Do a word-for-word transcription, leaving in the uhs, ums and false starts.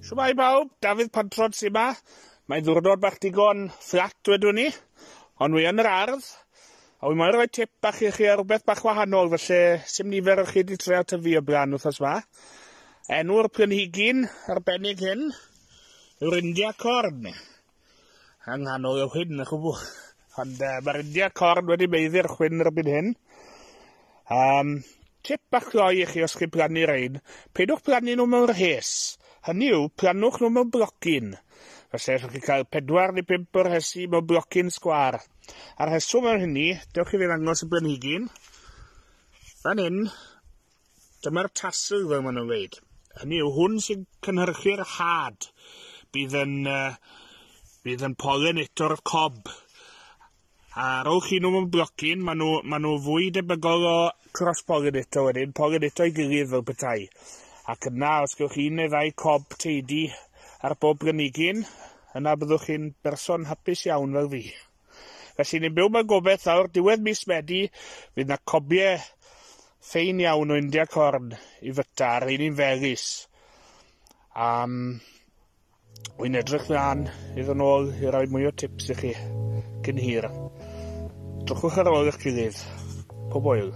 Shwmae bawb, Dafydd Pantrod sy 'ma. Mae'n ddiwrnod bach digon fflat wedwn ni, ond wi yn yr ardd, a wi moyn rhoi tip bach i chi ar rhywbeth bach wahanol, felly sim nifer o chi wedi treial tyfu o blaen wythnos 'ma. Enw'r planhigyn arbennig hyn yw'r India Corn. Yng nghanol y chwyn, y chwbl. Ond uh, mae'r India Corn wedi meiddi'r chwyn erbyn hyn. Um, tip bach gloi i chi os chi'n plannu rein, peidwch plannu nhw mewn rhes. Hynny yw, plannwch nhw mewn blocyn. Felly, allwch chi cael pedwar neu pump o'r rhesi mewn blocyn sgwâr. A'r rheswm am hynny, dewch i fi ddangos y blanhigyn. Fan hyn, dyma'r tassel fel maen nhw'n dweud. Hynny yw, hwn sy'n cynhyrchu'r had. Bydd yn, uh, bydd yn pollinato'r cob. A rowch chi nhw mewn blocyn, maen nhw, maen nhw fwy debygol o cross-pollinato wedyn, pollinato i gilydd fel petai. Ac yna, os gewch chi un neu ddau cob teidi ar bob planhigyn, yna byddwch chi'n berson hapus iawn fel fi. Felly ni'n byw mewn gobeith nawr, diwedd mis Medi, fydd na cobiau ffein iawn o India Corn i fyta, ar un un felys. Um, Wy'n edrych mlaen i ddod nôl i roi mwy o tips i chi cyn hir. Drychwch ar ôl eich gilydd. Pob hwyl.